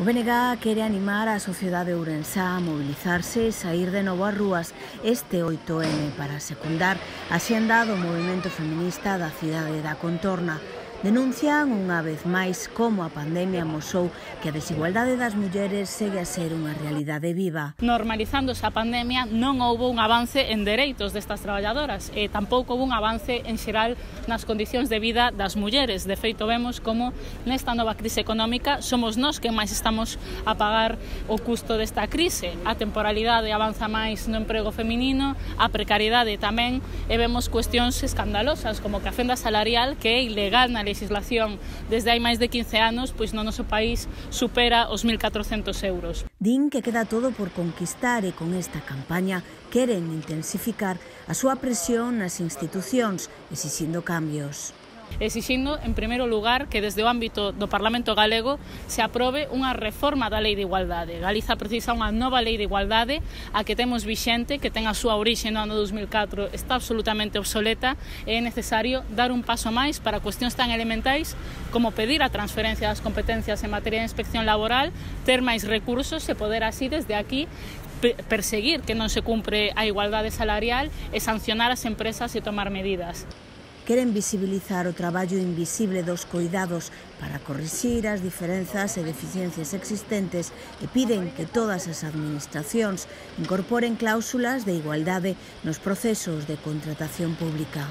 O BNG quere animar a sociedade ourensá a mobilizarse e sair de novo ás rúas este 8M para secundar a axenda do movimento feminista da cidade da Contorna. Denuncian unha vez máis como a pandemia amosou que a desigualdade das mulleres segue a ser unha realidade viva. Normalizándose a pandemia non houbo un avance en dereitos destas traballadoras e tampouco houbo un avance en xeral nas condicións de vida das mulleres. De feito, vemos como nesta nova crise económica somos nós que máis estamos a pagar o custo desta crise. A temporalidade avanza máis no emprego feminino, a precariedade tamén, e vemos cuestións escandalosas como que a fenda salarial, que é ilegal na legislación desde hai máis de 15 anos, pois no noso país supera os 1.400 euros. Din que queda todo por conquistar e con esta campaña queren intensificar a súa presión nas institucións, exixindo cambios. Exixindo, en primeiro lugar, que desde o ámbito do Parlamento galego se aprobe unha reforma da Lei de Igualdade. Galiza precisa unha nova Lei de Igualdade, a que temos vixente, que ten a súa orixe no ano 2004, está absolutamente obsoleta e é necesario dar un paso máis para cuestións tan elementais como pedir a transferencia das competencias en materia de inspección laboral, ter máis recursos e poder así desde aquí perseguir que non se cumpre a igualdade salarial e sancionar as empresas e tomar medidas. Queren visibilizar o traballo invisible dos coidados para corrixir as diferenzas e deficiencias existentes e piden que todas as administracións incorporen cláusulas de igualdade nos procesos de contratación pública.